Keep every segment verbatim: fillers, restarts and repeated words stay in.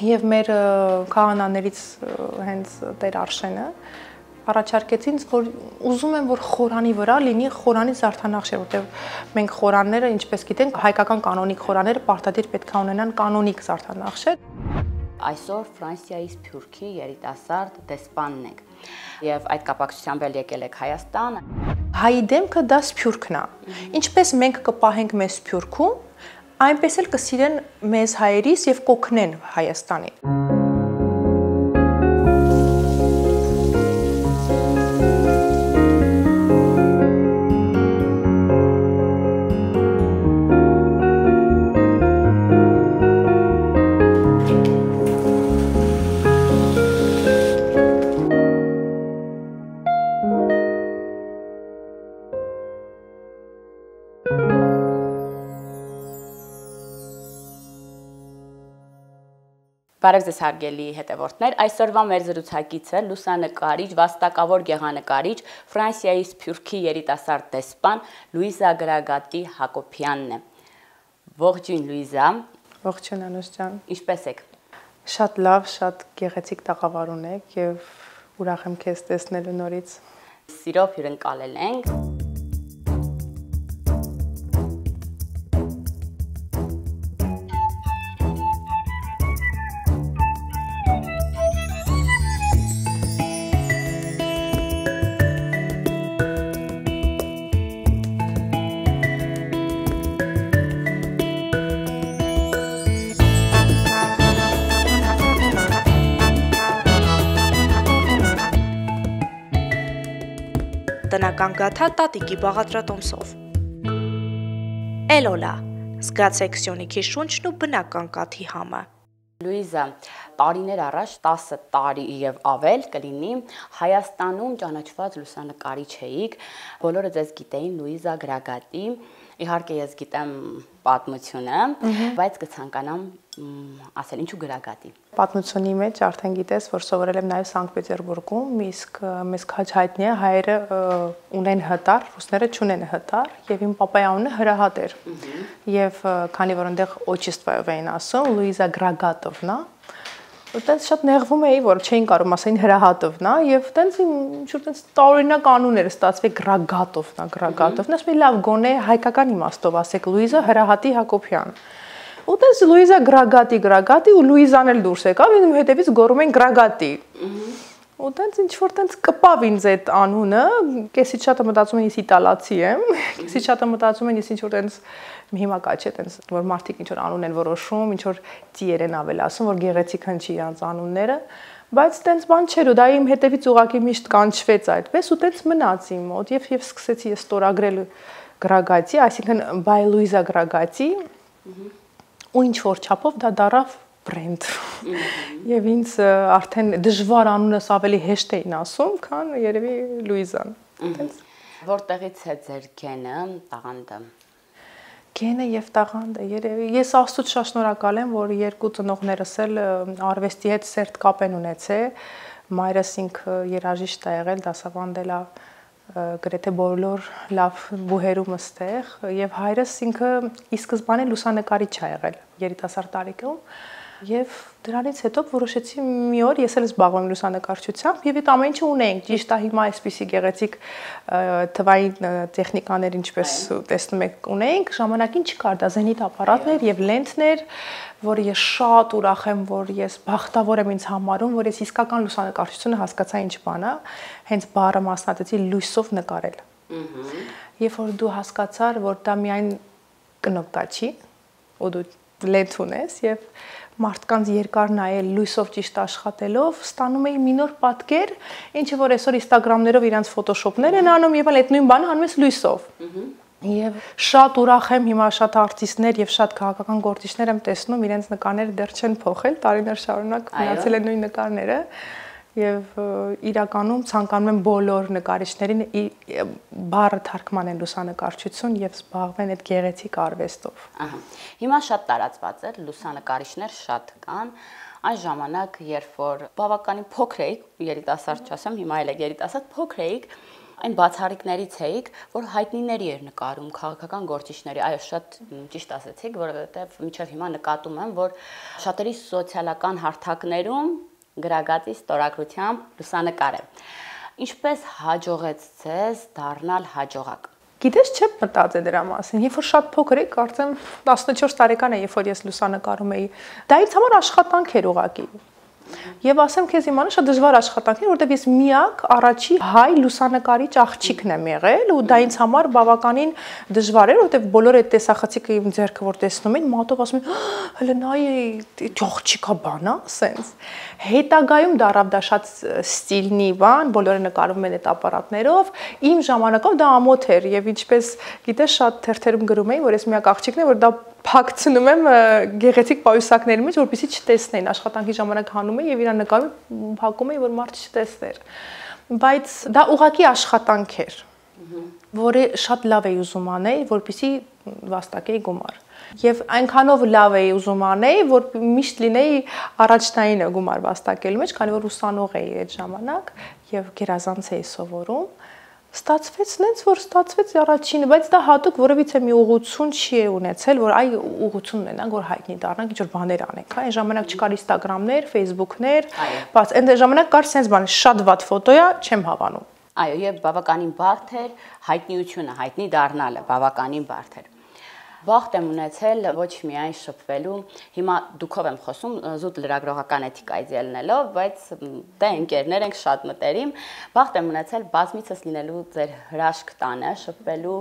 Եվ մեր քահանաներից հենց Տեր Արշենը առաջարկեցին, որ ուզում են, որ խորանի վրա լինի խորանի զարդանախշեր, որտեղ մենք խորանները, ինչպես գիտենք, հայկական կանոնիկ խորանները պարտադիր պետք է ունենան կանոնիկ զարդանախշեր։ Այսօր Ֆրանսիայի Սփյուռքի երիտասարդ դեսպանն եք եւ այդ կապակցությամբ էլ եկել եք Հայաստան։ Հայի դեմքը դա Սփյուռքն է։ Ինչպես մենք կպահենք մեզ Սփյուռքում, այնպես էլ կսիրեն մեզ հայերիս եւ կօգնեն Հայաստանին։ Բարև ձեզ հարգելի հետևորդներ, այսօրվա մեր զրուցակիցը լուսանկարիչ, վաստակավոր գեղանկարիչ, Ֆրանսիայի Սփյուռքի երիտասարդ դեսպան Լուիզա Գրագատի Հակոբյանն է։ Ողջույն Լուիզա։ Ողջույն Անուշ ջան։ Ինչպե՞ս եք։ Շատ լավ, շատ գեղեցիկ տաղավար ունեք եւ ուրախ եմ քեզ տեսնելու նորից։ Սիրով հյուրընկալել ենք։ Տնական գաթա տատիկի բաղադրատոմսով։ Էլոլա, զգացեք Սյունիքի շունչն ու բնական կաթի համը։ Լուիզա, տարիներ առաջ տասը տարի եւ ավել կլինի Հայաստանում ճանաչված լուսանկարիչ էիք, բոլորը ձեզ գիտեին Լուիզա Գրագատի, իհարկե ես գիտեմ պատմությունը, բայց կցանկանամ ասել ինչու Գրագատի։ Պատմությունի մեջ արդեն գիտես, որ սովորել եմ նաև Սանկտ Պետերբուրգում, իսկ մեզ քաջ հայտնի է հայերը ունեն հտար, ռուսները չունեն հտար, եւ իմ պապայի անունը Հրահատ էր։ Եվ քանի որ այնտեղ օչիստվայով էին ասում Լուիզա Գրագատովնա, այդտեղ շատ նեղվում էի, որ չէին կարող ասել Հրահատովնա, եւ տենց ինչ-որ տենց տարօրինակ անուն էր ստացվել Գրագատովնա, Գրագատովնա, ասում էի լավ գոնե հայկական իմաստով ասեք Լուիզա Հրահատի Հակոբյան։ Ու տես Լուիզա Գրագատի, Գրագատի ու Լուիզան էլ դուրս եկավ, ինձ հետևից գոռում են Գրագատի։ Ու տենց ինչ որ տենց կպավ ինձ այդ անունը, կեսից շատը մտածում են ես իտալացի եմ, կեսից շատը մտածում են ես ինչ որ տենց հիմա կա չէ տենց որ մարդիկ ինչ որ անուն են որոշում, ինչ որ ծիեր են ավել ասում, որ գեղեցիկ հնչի իրանց անունները, բայց տենց բան չէր ու դա իմ հետևից ուղակի միշտ կանչվեց այդպես ու տենց մնաց իմ մոտ եւ եւ սկսեցի ես ստորագրել Գրագատի, այսինքն by Լուիզա Գրագատի ու ինչ որ չափով դա դարավ բրենդ։ Եվ ինձ արդեն դժվար անունս ավելի հեշտ էին ասում, քան երևի Լուիզան։ Որտեղից է ձեր գենը, տաղանդը։ Գենը եւ տաղանդը երևի ես Աստծուց շատ շնորհակալ եմ, որ երկու ծնողներս էլ արվեստի հետ սերտ կապ են ունեցել։ Մայրս ինքը երաժիշտ է եղել, դասավանդել է գրեթե բոլոր լավ բուհերում ստեղ եւ հայրս ինքը ի սկզբանե լուսանկարիչ է եղել երիտասարդ տարիքում եւ դրանից հետո որոշեցի մի օր ես էլ զբաղվում եմ լուսանկարչությամբ եւ այդ ամեն ինչը ունենք ճիշտ է հիմա այսպիսի գեղեցիկ թվային տեխնիկաներ ինչպես տեսնում եք ունենք ժամանակին չկար դա զենիթ ապարատներ եւ լենթներ որ ես շատ ուրախ եմ որ ես բախտավոր եմ ինձ համարում որ ես իսկական լուսանկարչությունը հասկացա ինչ բան է հենց բառը մասնատեցի լույսով նկարել երբ որ դու հասկացար որ դա միայն կնոպկա չի ու դու լենթ ունես եւ մարդկանց երկար նայել լույսով ճիշտ աշխատելով ստանում էի մի նոր պատկեր ինչը որ այսօր Instagram-ներով իրանց ֆոտոշոպներ են անում եւ այդ նույն բանը անում ես լույսով Եվ շատ ուրախ եմ հիմա շատ արտիստներ եւ շատ քաղաքական գործիչներ եմ տեսնում իրենց նկարները դեռ չեն փոխել տարիներ շարունակ մնացել են նույն նկարները եւ իրականում ցանկանում եմ բոլոր նկարիչներին բառը թարգմանեն են լուսանկարչություն եւ զբաղվեն այդ գեղեցիկ արվեստով։ Ահա։ Հիմա շատ տարածված է, լուսանկարիչներ շատ կան։ Այն ժամանակ, երբ որ բավականին փոքր էիք, երիտասարդ չասեմ, հիմա էլ եք երիտասարդ, փոքր էիք, այն բացառիկներից էիք, որ հայտնիների էր նկարում, քաղաքական գործիչների, այո, շատ ճիշտ ասեցիք, որովհետև մինչև հիմա նկատում եմ, որ շատերի սոցիալական հարթակներում գրագածի ստորագրությամբ լուսանկար է։ Ինչպես հաջողեց ձեզ դառնալ հաջողակ։ Գիտես, չեմ մտածել դրա մասին։ Երբ որ շատ փոքր էի, կարծեմ տասնչորս տարեկան եմ, երբ որ ես լուսանկարում էի, դա ինձ համար աշխատանք էր ուղղակի։ Եվ ասեմ քեզ իմանա շատ դժվար աշխատանք էր, որտեղ ես միակ առաջի հայ լուսանկարիչ աղջիկն եմ եղել ու դա ինձ համար բավականին դժվար էր, որտեղ բոլորը այդ տեսախցիկը իմ ձեռքը որ տեսնում են, մատով ասում են, հələ նայ աղջիկա բանա, սենց։ Հետագայում դարավ դա շատ ստիլնի բան, բոլորը նկարում են այդ ապարատներով, իմ ժամանակով դա ամոթ էր եւ ինչպես գիտես շատ թերթերում գրում էին, որ ես միակ աղջիկն եմ, որ դա փակցնում եմ գեղեցիկ պայուսակների մեջ, որպեսզի չտեսնեն, աշխատանքի ժամանակ հանում եմ եւ իրան նկարում փակում եմ, որ մարդ չտեսներ։ Բայց դա ուղղակի աշխատանք էր, որը շատ լավ էի ուզում անել, որպեսզի վաստակեի գումար։ Եվ այնքանով լավ էի ուզում անել, որ միշտ լինեի առաջնայինը գումար վաստակելու մեջ, քանի որ ուսանող էի այդ ժամանակ եւ գերազանց էի սովորում։ Ստացվեց նենց, որ ստացվեց առաջինը, բայց դա հատուկ որևիցե մի ուղղություն չի ունեցել, որ այ ուղղություն ունենանք, որ հայտնի դառնանք, ինչ-որ բաներ անենք, հա, այն ժամանակ չկար Instagram-ներ, Facebook-ներ, բայց այն ժամանակ կար sense բան, շատ վատ ֆոտոյա, չեմ հավանում։ Այո, եւ բավականին բարդ էր հայտնիությունը, հայտնի դառնալը, բավականին բարդ էր։ Վախտ եմ ունեցել ոչ միայն շփվելու, հիմա դուքով եմ խոսում զուտ լրագրողական էթիկայից ելնելով, բայց դե ընկերներ ենք շատ մտերիմ, վախտ եմ ունեցել բազմիցս լինելու ձեր հրաշք տանը, շփվելու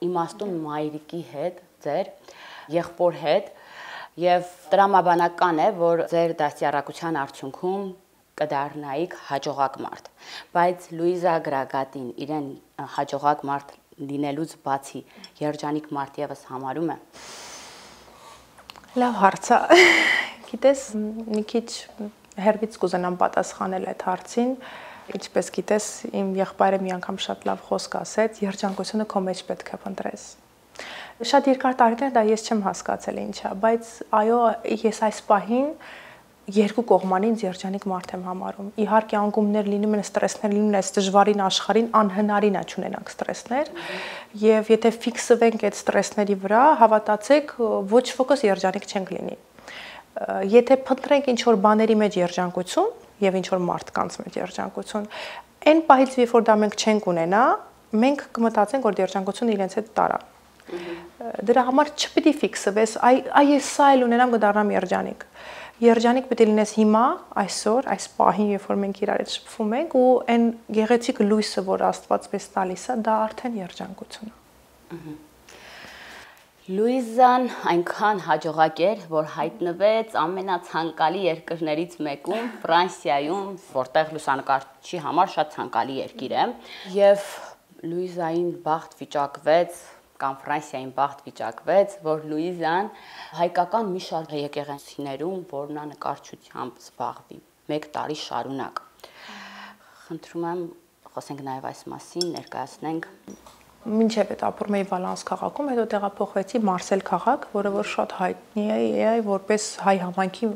իմաստուն մայրիկի հետ, ձեր եղբոր հետ, եւ տրամաբանական է, որ ձեր դաստիարակության արդյունքում կդառնայիք հաջողակ մարդ, բայց Լուիզա Գրագատին իրեն հաջողակ մարդ լինելուց բացի երջանիկ մարդ եւս համարում է։ Լավ հարց է։ Գիտես, մի քիչ հերվից կուզենամ պատասխանել այդ հարցին, ինչպես գիտես, իմ եղբայրը մի անգամ շատ լավ խոսք ասեց, երջանկությունը քո մեջ պետք է փնտրես։ Շատ երկար տարիներ դա ես չեմ հասկացել ինչա, բայց այո, ես այս պահին երկու կողմանից երջանիկ մարդ եմ համարում։ Իհարկե անկումներ լինում են, ստրեսներ լինում են, այս դժվարին աշխարհին անհնարին է չունենանք ստրեսներ, եւ եթե ֆիքսվենք այդ ստրեսների վրա, հավատացեք, ոչ ոքս երջանիկ չենք լինի։ Եթե փնտրենք ինչ որ բաների մեջ երջանկություն եւ ինչ որ մարդկանց մեջ երջանկություն, այն պահից երբ որ դա մենք չենք ունենա, մենք կմտածենք, որ երջանկությունը իրենց հետ տարա։ Դրա համար չպիտի ֆիքսվես, այ այ ես սա էլ ունենամ կդառնամ երջանիկ։ Երջանիկ պետք է լինես հիմա, այսօր, այս պահին, երբ որ մենք իրար հետ շփվում ենք, ու այն գեղեցիկ լույսը, որ Աստված մեզ տալիս է, դա արդեն երջանկություն է։ Լուիզան այնքան հաջողակ էր, որ հայտնվեց ամենացանկալի երկրներից մեկում, Ֆրանսիայում, որտեղ լուսանկարչի համար շատ ցանկալի երկիր է, եւ Լուիզային բախտ վիճակվեց կամ Ֆրանսիային բախտ վիճակվեց, որ Լուիզան հայկական մի շարք եկեղեցիներում, որ նա նկարչությամբ զբաղվի, մեկ տարի շարունակ։ Խնդրում եմ, խոսենք նաև այս մասին, ներկայացնենք։ Մինչև այդ ապրում էի Վալանս քաղաքում, հետո տեղափոխվեցի Մարսել քաղաք, որը որ շատ հայտնի է, որպես հայ համայնքի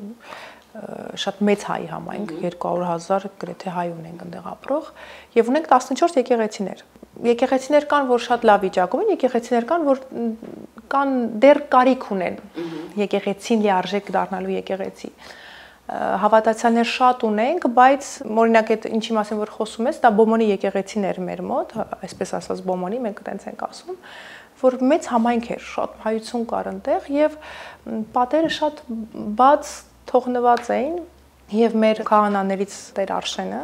շատ մեծ հայ համայնք, երկու հարյուր հազար գրեթե հայ ունենք այնտեղ ապրող, եւ ունենք տասնչորս եկեղեցիներ։ Եկեղեցիներ կան, որ շատ լավ վիճակում են, եկեղեցիներ կան, որ կան դեռ կարիք ունեն եկեղեցին լիարժեք դառնալու եկեղեցի։ Հավատացյալներ շատ ունենք, բայց օրինակ այդ ինչի մասին որ խոսում ես, դա Բոմոնի եկեղեցիներ մեր մոտ, այսպես ասած Բոմոնի, մենք այդպես ենք ասում, որ մեծ համայնք էր, շատ հայություն կար այնտեղ եւ պատերը շատ բաց թողնված էին եւ մեր քահանաներից Տեր Արշենը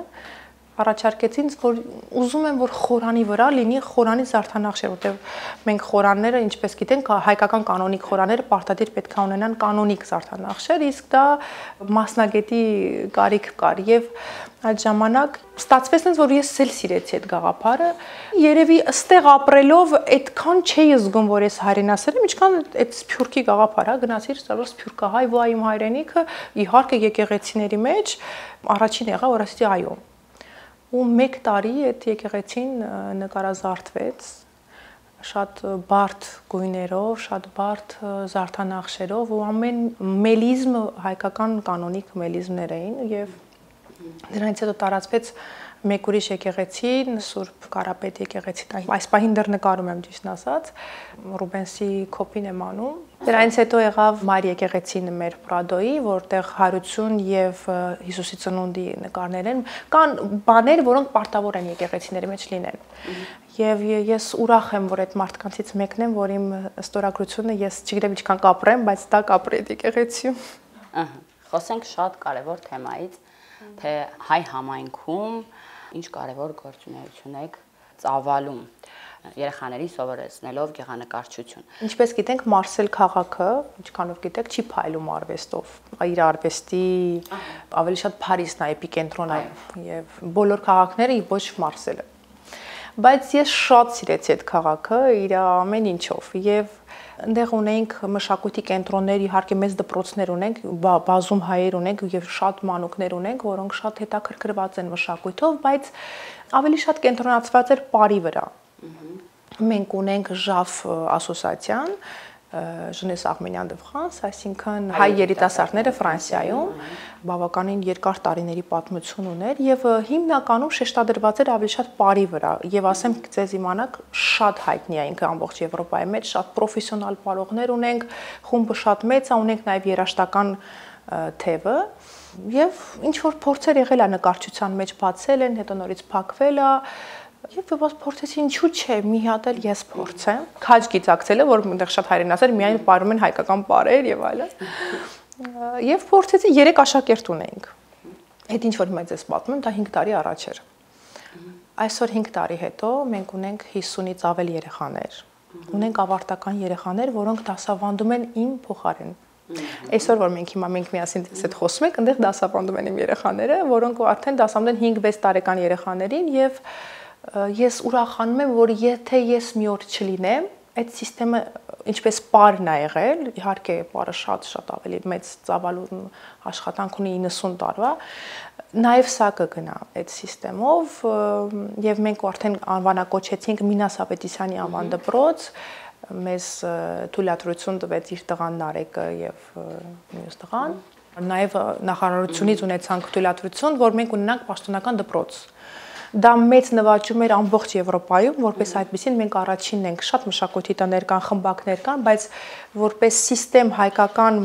առաջարկեցին, որ ուզում են, որ խորանի վրա լինի խորանի զարդանախշեր, որտեղ մենք խորանները, ինչպես գիտենք, հայկական կանոնիկ խորանները պարտադիր պետք է ունենան կանոնիկ զարդանախշեր, իսկ դա մասնագետի կարիք կար եւ այդ ժամանակ ստացվեց այնպես, որ ես էլ սիրեցի այդ գաղափարը, երևի ըստեղ ապրելով այդքան չէի զգում, որ ես հայրենասեր եմ, ինչքան այդ սփյուռքի գաղափարը, գնացիր ստարոս սփյուռքահայ, ու այ իմ հայրենիքը իհարկե եկեղեցիների մեջ առաջին եղա, որ ասեցի այո։ Ու մեկ տարի այդ եկեղեցին նկարազարդվեց շատ բարդ գույներով, շատ բարդ զարդանախշերով ու ամեն մելիզմ հայկական կանոնիկ մելիզմներ էին եւ դրանից հետո տարածվեց մեկ ուրիշ եկեղեցին, Սուրբ Կարապետ եկեղեցին, այս պահին դեռ նկարում եմ ճիշտ ասած, Ռուբենսի կոպին եմ անում։ Դրանից հետո եղավ Մայր եկեղեցին մեր Պրադոյի, որտեղ հարություն եւ Հիսուսի ծնունդի նկարներ են, կան բաներ, որոնք պարտավոր են եկեղեցիների մեջ լինեն։ Եվ ես ուրախ եմ, որ այդ մարդկանցից մեկն եմ, որ իմ ստորագրությունը ես չգիտեմ ինչքան կապրեմ, բայց դա կապրի այդ եկեղեցիում։ Ահա, խոսենք շատ կարևոր թեմայից, թե հայ համայնքում ինչ կարևոր գործունեություն եք ծավալում երեխաներին սովորեցնելով գեղանկարչություն։ Ինչպես գիտենք, Մարսել քաղաքը, ինչքանով գիտեք, չի փայլում արվեստով։ Իր արվեստի ավելի շատ Փարիզն է էպիկենտրոնը եւ բոլոր քաղաքները ոչ Մարսելը։ Բայց ես շատ սիրեցի այդ քաղաքը իր ամեն ինչով եւ այնտեղ ունենք մշակույթի կենտրոններ, իհարկե մեծ դպրոցներ ունենք, բազում հայեր ունենք եւ շատ մանուկներ ունենք, որոնք շատ հետաքրքրված են մշակույթով, բայց ավելի շատ կենտրոնացված էր բարի վրա։ Մենք ունենք Ժաֆ ասոսիացիան, Jeunesse Arménienne de France, այսինքն հայ երիտասարդները Ֆրանսիայում բավականին երկար տարիների պատմություն ուներ եւ հիմնականում շեշտադրված էր ավելի շատ բարի վրա եւ ասեմ ձեզ իմանաք շատ հայտնի է ինքը ամբողջ Եվրոպայի մեջ, շատ պրոֆեսիոնալ պարողներ ունենք, խումբը շատ մեծ է, ունենք նաեւ երաժշտական թևը եւ ինչ որ փորձեր եղել է նկարչության մեջ բացել են, հետո նորից փակվել է Եվ ես փորձեցի ինչու՞ չէ, մի հատ էլ ես փորձեմ։ Քաջ գիտակցելը, որ այնտեղ շատ հայերեն ասել, միայն ապարում են հայկական բարեր եւ այլն։ Եվ փորձեցի երեք աշակերտ ունենք։ Այդ ինչ որ մեծ էս պատմում, դա հինգ տարի առաջ էր։ Այսօր հինգ տարի հետո մենք ունենք հիսունից ավել երեխաներ։ Ունենք ավարտական երեխաներ, որոնք դասավանդում են իմ փոխարեն։ Այսօր որ մենք հիմա մենք միասին այդ խոսում ենք, այնտեղ դասավանդում են իմ երեխաները, որոնք արդեն դասավանդում են հինգ վեց տարեկան երեխաներին եւ Ես ուրախանում եմ, որ եթե ես մի օր չլինեմ, այդ համակարգը ինչպես պարն է եղել, իհարկե պարը շատ-շատ ավելի մեծ ծավալուն աշխատանք ունի իննսուն տարվա, նաև սա կգնա այդ համակարգով եւ մենք արդեն անվանակոչեցինք Մինաս Ավետիսյանի անվան դպրոց, մեզ թույլատրություն տվեց իր տղան Նարեկը եւ մյուս տղան, նաև նախարարությունից ունեցանք թույլատրություն, որ մենք ունենանք պաշտոնական դպրոց։ Դա մեծ նվաճում էր ամբողջ Եվրոպայում, որպես այդպեսին մենք առաջինն ենք, շատ մշակույթի տներ կան, խմբակներ կան, բայց որպես համակարգ հայկական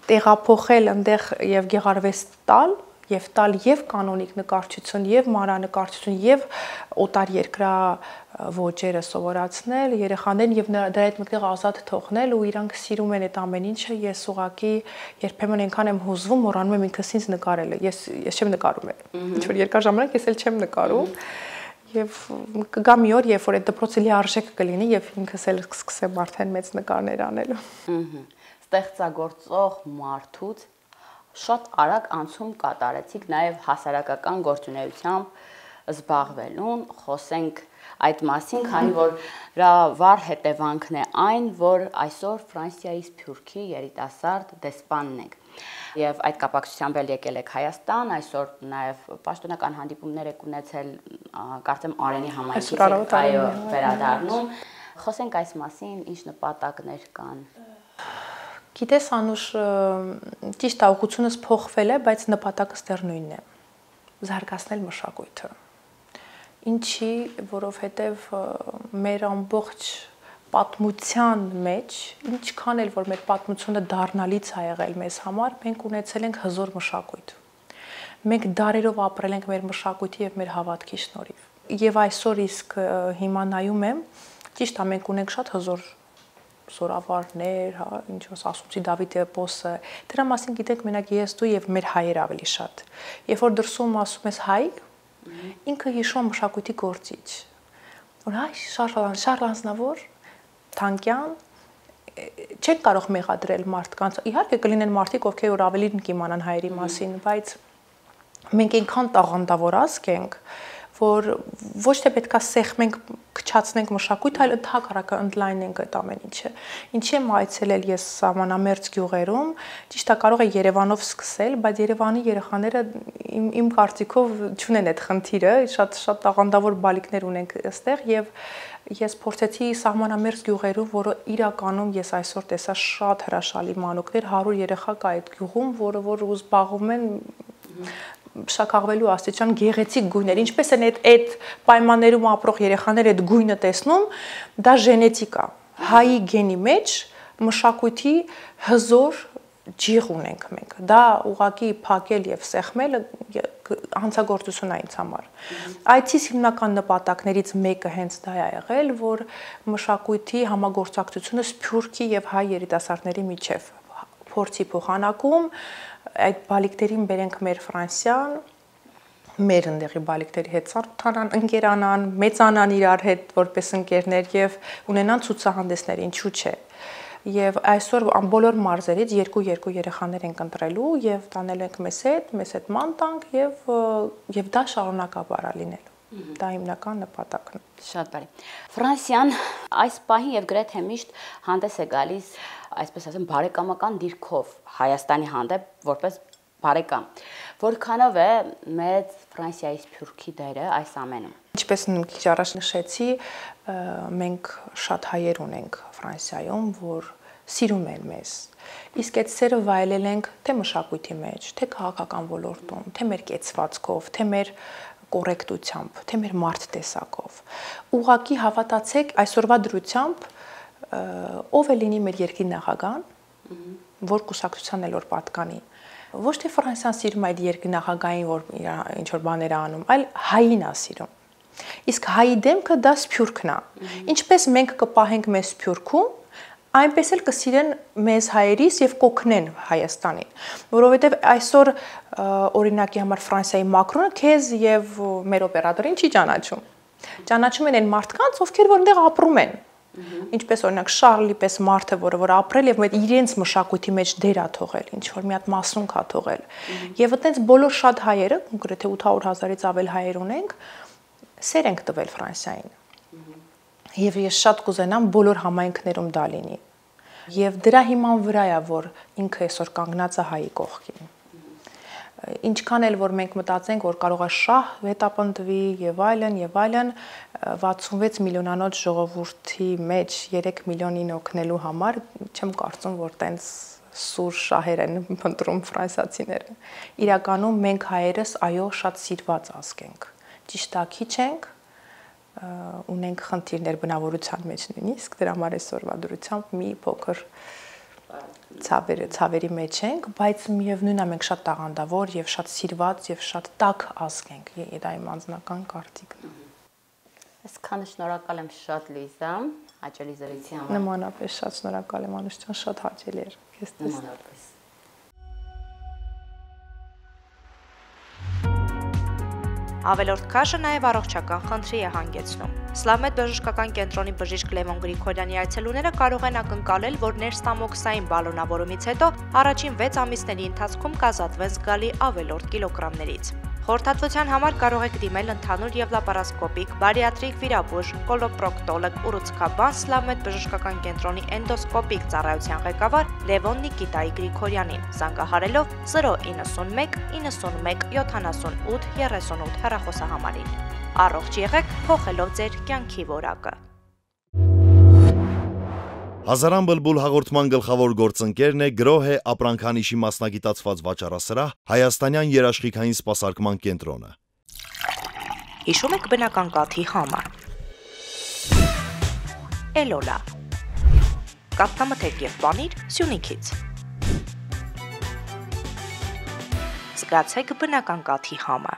տեղափոխել այնտեղ եւ գեղարվեստ տալ եւ տալ եւ կանոնիկ նկարչություն եւ մանրանկարչություն եւ օտար երկրա ոճերը սովորացնել երեխաներին եւ դրա հետ մեկտեղ ազատ թողնել ու իրանք սիրում են այդ ամեն ինչը ես ուղակի երբեմն այնքան եմ հուզվում մոռանում եմ ինքս ինձ նկարելը ես ես չեմ նկարում ինչ որ երկար ժամանակ ես էլ չեմ նկարում եւ կգա մի օր երբ որ այդ դպրոցը լիարժեք կլինի եւ ինքս էլ կսկսեմ արդեն մեծ նկարներ անելու ստեղծագործող մարդուց շատ արագ անցում կատարեցիք նաև հասարակական գործունեությամբ զբաղվելուն, խոսենք այդ մասին, քանի որ դրա վառ հետևանքն է այն, որ այսօր Ֆրանսիայի Սփյուռքի երիտասարդ դեսպանն եք։ Եվ այդ կապակցությամբ էլ եկել եք Հայաստան, այսօր նաև պաշտոնական հանդիպումներ եք ունեցել, կարծեմ Արենի համայնքից եք այո վերադառնում։ Խոսենք այս մասին, ինչ նպատակներ կան։ Գիտես Անուշ, ճիշտ է, ուղղությունս փոխվել է, բայց նպատակը դեռ նույնն է։ Զարգացնել մշակույթը։ Ինչի, որովհետև մեր ամբողջ պատմության մեջ, ինչքան էլ որ մեր պատմությունը դառնալից է եղել մեզ համար, մենք ունեցել ենք հզոր մշակույթ։ Մենք դարերով ապրել ենք մեր մշակույթի եւ մեր հավատքի շնորհիվ։ Եվ այսօր իսկ հիմա նայում եմ, ճիշտ է, մենք ունենք շատ հզոր Սորավարներ, հա, ինչ որ ասացի Դավիթ էպոսը, դրա մասին գիտենք մենակ ես դու եւ մեր հայեր ավելի շատ։ Երբ որ դրսում ասում ես հայ, ինքը հիշում մշակույթի գործիչ։ Որ հայ Շարլ Շարլ Ազնավուր, Թանկյան, չեք կարող մեղադրել մարդկանց։ Իհարկե կլինեն մարդիկ, ովքեր որ ավելին կիմանան հայերի մասին, բայց մենք այնքան տաղանդավոր ազգ ենք, որ ոչ թե պետքա սեղմենք, քչացնենք մշակույթ, այլ ընդհակառակը ընդլայնենք այդ ամեն ինչը։ Ինչի եմ այցելել ես սահմանամերձ գյուղերում, ճիշտ է կարող է Երևանով սկսել, բայց Երևանի երեխաները իմ, իմ կարծիքով չունեն այդ խնդիրը, շատ շատ տաղանդավոր բալիկներ ունենք այստեղ եւ ես փորձեցի սահմանամերձ գյուղերում, որը իրականում ես այսօր տեսա շատ հրաշալի մանուկներ, հարյուր երեխա կա այդ գյուղում, որը որ զբաղվում են շաքաղվելու աստիճան գեղեցիկ գույներ, ինչպես են այդ այդ պայմաններում ապրող երեխաները այդ գույնը տեսնում, դա ժենետիկա, հայի գենի մեջ մշակույթի հզոր ջիղ ունենք մենք, դա ուղղակի փակել եւ սեղմել հանցագործություն է ինձ համար։ Այցիս հիմնական նպատակներից մեկը հենց դա է եղել, որ մշակույթի համագործակցությունը Սփյուռքի եւ հայ երիտասարդների միջև փորձի փոխանակում, այդ բալիկներին բերենք մեր Ֆրանսիան, մեր ընդեղի բալիկների հետ ծանոթանան, ընկերանան, մեծանան իրար հետ որպես ընկերներ եւ ունենան ցուցահանդեսներ, ինչու՞ չէ։ Եվ այսօր բոլոր մարզերից երկու-երկու երեխաներ ենք ընտրելու եւ տանել ենք մեզ հետ, մեզ հետ ման տանք եւ եւ դա շարունակաբար է լինելու։ Դա հիմնական նպատակն է։ Շատ բարի։ Ֆրանսիան այս պահին եւ գրեթե միշտ հանդես է գալիս, այսպես ասեմ, բարեկամական դիրքով Հայաստանի հանդեպ որպես բարեկամ։ Որքանով է մեծ Ֆրանսիայի Սփյուռքի դերը այս ամենում։ Ինչպես քիչ առաջ նշեցի, մենք շատ հայեր ունենք Ֆրանսիայում, որ սիրում են մեզ։ Իսկ այդ սերը վայելել ենք թե մշակույթի մեջ, թե քաղաքական ոլորտում, թե մեր կեցվածքով, թե մեր կոռեկտությամբ, թե մեր մարդ տեսակով։ Ուղղակի հավատացեք, այսօրվա դրությամբ ով է լինի մեր երկրի նախագահան, որ կուսակցության էլ որ պատկանի։ Ոչ թե Ֆրանսիան սիրում այդ երկրի նախագահային, որ ինչ որ բաներ է անում, այլ հային է սիրում։ Իսկ հայի դեմքը դա Սփյուռքն է։ Ինչպես մենք կպահենք մեզ Սփյուռքում, այնպես էլ կսիրեն մեզ հայերիս եւ կօգնեն Հայաստանին, որովհետեւ այսօր օրինակի համար Ֆրանսիայի Մակրոնը քեզ եւ մեր օպերատորին չի ճանաչում։ Ճանաչում են այն մարդկանց, ովքեր որ այնտեղ ապրում են։ Ինչպես օրինակ Շարլի պես մարդը, որը որ ապրել եւ այդ իրենց մշակույթի մեջ դեր ա թողել, ինչ որ մի հատ մասունք ա թողել։ Եվ այտենց բոլոր շատ հայերը, կոնկրետ ութ հարյուր հազարից ավել հայեր ունենք, սեր ենք տվել Ֆրանսիային։ Եվ ես շատ կուզենամ բոլոր համայնքներում դա լինի։ Եվ դրա հիման վրա է, որ ինքը այսօր կանգնած է հայի կողքին։ Ինչքան էլ որ մենք մտածենք, որ կարող է շահ հետապնդվի եւ այլն եւ այլն, վաթսունվեց միլիոնանոց ժողովրդի մեջ երեք միլիոնին օգնելու համար չեմ կարծում, որ տենց սուր շահեր են փնտրում ֆրանսիացիները։ Իրականում մենք հայերս այո շատ սիրված ազգ ենք։ Ճիշտ է, քիչ ենք, ունենք խնդիրներ բնավորության մեջ նույնիսկ, դրա համար այսօրվա դրությամբ մի փոքր ցավերի ցավերի մեջ ենք, բայց միևնույնն է մենք շատ տաղանդավոր եւ շատ սիրված եւ շատ տաք ազգ ենք, դա իմ անձնական կարծիքն է։ Այսքանը շնորհակալ եմ շատ Լիզա, հաճելի զրույցի համար։ Նմանապես շատ շնորհակալ եմ Անուշ ջան, շատ հաճելի էր քեզ տեսնել։ Ավելորդ քաշը նաև առողջական խնդրի է հանգեցնում։ Սլավմեդ բժշկական կենտրոնի բժիշկ Լևոն Գրիգորյանի այցելուները կարող են ակնկալել, որ ներստամոքսային բալոնավորումից հետո առաջին վեց ամիսների ընթացքում կազատվեն զգալի ավելորդ կիլոգրամներից։ Խորհրդատվության համար կարող եք դիմել ընդհանուր եւ լապարասկոպիկ, բարիատրիկ վիրաբույժ, կոլոպրոկտոլոգ, ուռուցքաբան Սլավմեդ բժշկական կենտրոնի էնդոսկոպիկ ծառայության ղեկավար Լևոն Նիկիտայի Գրիգորյանին, զանգահարելով զրո իննսունմեկ իննսունմեկ յոթանասունութ երեսունութ հեռախոսահամարին։ Առողջ եղեք, փոխելով ձեր կյանքի որակը։ Հազարան բլբուլ հաղորդման գլխավոր գործընկերն է Գրոհե ապրանքանիշի մասնագիտացված վաճառասրահ Հայաստանյան երաշխիքային սպասարկման կենտրոնը։ Հիշում եք բնական կաթի համը։ Էլոլա։ Կաթնամթերք եւ պանիր Սյունիքից։ Զգացեք բնական կաթի համը։